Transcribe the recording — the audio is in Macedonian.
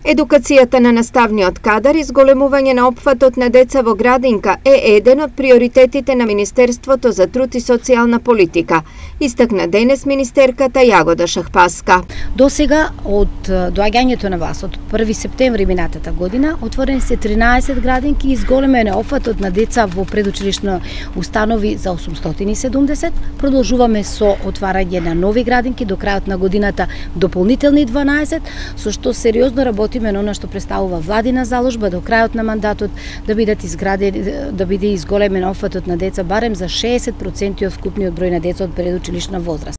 Едукацијата на наставниот кадар и зголемување на опфатот на деца во градинка е еден од приоритетите на Министерството за труд и социјална политика, истакна денес министерката Јагода Шахпаска. До сега, од доаѓањето на власт, од 1 септември минатата година, отворени се 13 градинки и зголемен е опфатот на деца во предучилишни установи за 870. Продолжуваме со отварање на нови градинки до крајот на годината, дополнителни 12, со што сериозно работиме на она што представува владина заложба до крајот на мандатот да биде изголемен опфатот на деца барем за 60% од вкупниот број на деца од предучилишна возраст.